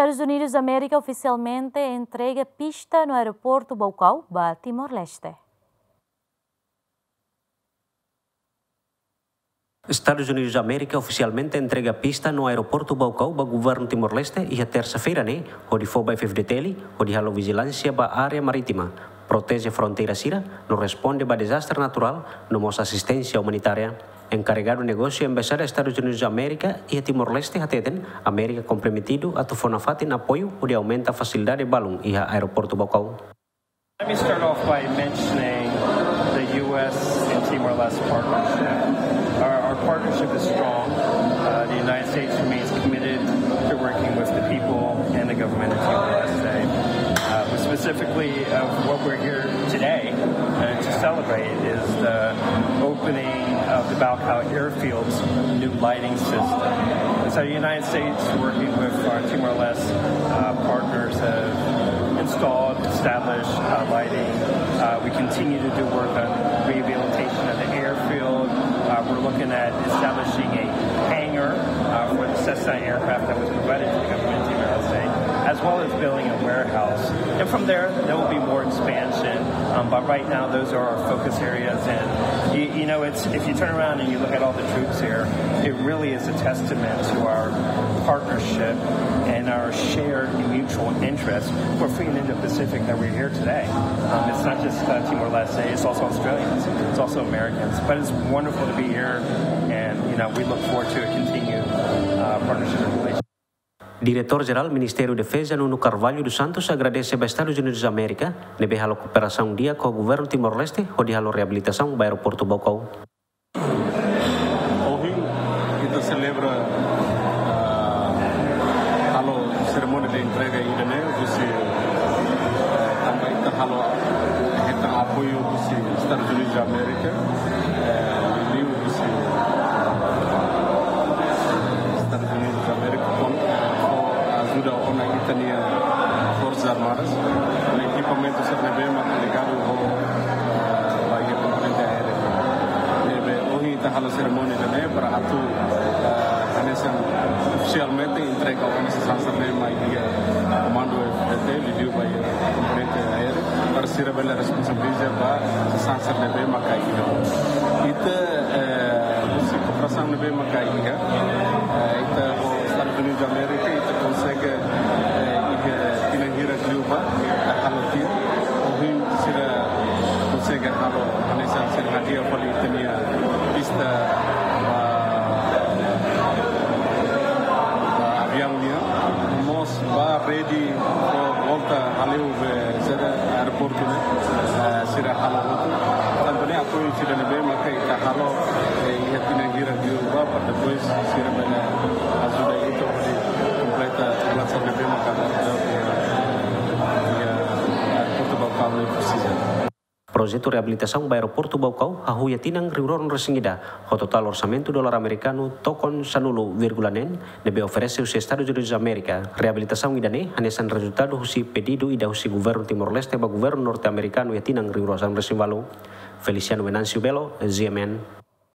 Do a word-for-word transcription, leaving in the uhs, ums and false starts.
Estadus Unidus Amérika ofisialmente entrega pista no aeroportu Baucau ba Timor-Leste. Estadus Unidus Amérika ofisialmente entrega pista no aeroportu Baucau ba governu Timor-Leste iha tersa-feira ne'e, hodi fó ba F F D T L, hodi halo vijilánsia ba área marítima, proteje fronteira sira, no responde ba dezastre naturál, no mós asisténsia umanitária. Enkarregadu negósiu Embaixada Estadus Unidus Amérika iha Timor-Leste hateten, Amérika komprometidu atu fó nafatin apoiu hodi aumenta fasilidade balun iha aeroportu Baucau. Let me start off by mentioning the U S and Timor-Leste partnership. Our, our partnership is strong. Uh, the United States remains committed to working with the people and the government of Timor-Leste. Uh, but specifically of what we're here today, uh, to celebrate is the opening of the Baucau Airfield's new lighting system. And so the United States, working with our Timor-Leste, uh, partners, have installed, established, uh, lighting. Uh, we continue to do work on rehabilitation of the airfield. Uh, we're looking at establishing a hangar, uh, for the Cessna aircraft that was provided to the government of the United States, as well as building a warehouse. And from there, there will be more expansion. Um, but right now, those are our focus areas. And you, you know, it's, if you turn around and you look at all the troops here, it really is a testament to our partnership and our shared mutual interest for free and Indo-Pacific that we're here today. Um, it's not just, uh, Timor-Leste, it's also Australians, it's also Americans. But it's wonderful to be here, and, you know, we look forward to a continued, uh, partnership and relationship. Diretór Jerál Ministériu Defeza Nuno Carvalho dos Santos agradese ba Estadus Unidus Amérika ne'ebé halo kooperasaun di'ak ho governu Timor-Leste hodi halo reabilitasaun ba aeroportu Baucau. Ohin ita selebra, ah, halo serimónia de entrega ida-ne'e, husi, eh, tanba ita halo hetan apoiu husi Estadus Unidus Amérika, eh, liuliu husi Estadus Unidus Amérika, ho ajuda ona ita-nia Forsas Armadas, no ekipamentu sira ne'ebé mak ligadu ho, eh, ba iha komponente aéreu. Ne'ebé ohin ita halo serimónia ida-ne'e para atu, eh, hanesan ofisialmente entrega ona sasán sira-ne'e mai iha Komandu F F D T, liuliu ba iha komponente aéreu, para sira bele responsabiliza ba sasán sira ne'ebé mak iha. Ita, eh, husi kooperasaun ne'ebé mak iha, eh, ita ho Estadus Unidus Amérika, ita konsege, eh, iha tinan hirak liubá, eh, halo tiha. Ohin sira konsege halo, hanesan sira hadi'a fali ita-nia pista, ah, ah, aviaun nian. Mós ba ready ho volta hale'u be sira aeroportu ne'e, eh, sira halo hotu. Tantu ne'e apoiu sira ne'ebé maka ita halo, eh, iha tinan hirak liubá, para depois sira bele ajuda ita hodi kompleta tugulan sira ne'ebé maka iha, iha aeroportu Baucau ne'e presiza. Projetu reabilitasaun ba aeroportu Baucau hahú iha tinan rihun rua ruanulu-resin-ida, ho totál orsamentu dolar amerikanu tokon sanulu vírgula neen, ne'ebé oferese husi Estadus Unidus Amérika. Reabilitasaun ida-ne'e hanesan rezultadu husi pedidu ida husi governu Timor-Leste ba governu norte-amerikanu iha tinan rihun rua sanulu-resin-ualu. Feliciano Venâncio Belo, G M N,